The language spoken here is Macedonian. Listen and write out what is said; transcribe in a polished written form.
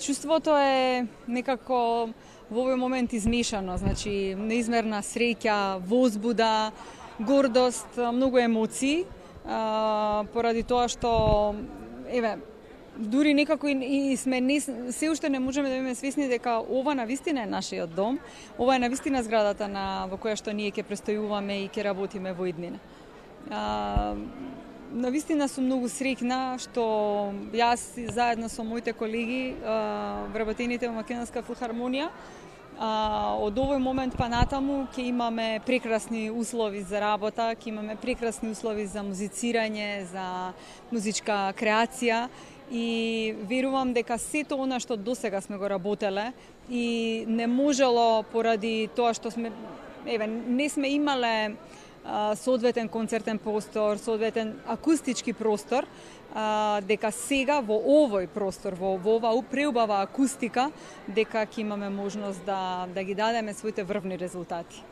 Чувството е некако во овој момент измешано, значи неизмерна среќа, возбуда, гордост, многу емоции, поради тоа што дури некако и сме се уште не можеме да биме свесни дека ова навистина е нашиот дом, ова е навистина зградата во која што ние ќе престојуваме и ќе работиме во иднина. Навистина сум многу среќна што јас заедно со моите колеги вработените во Македонска филхармонија од овој момент па натаму ќе имаме прекрасни услови за работа, ќе имаме прекрасни услови за музицирање, за музичка креација и верувам дека сето она што досега сме го работеле и не можело поради тоа што не сме имале соодветен концертен простор, соодветен акустички простор, дека сега во овој простор, во ова преубава акустика, дека ќе имаме можност да ги дадеме своите врвни резултати.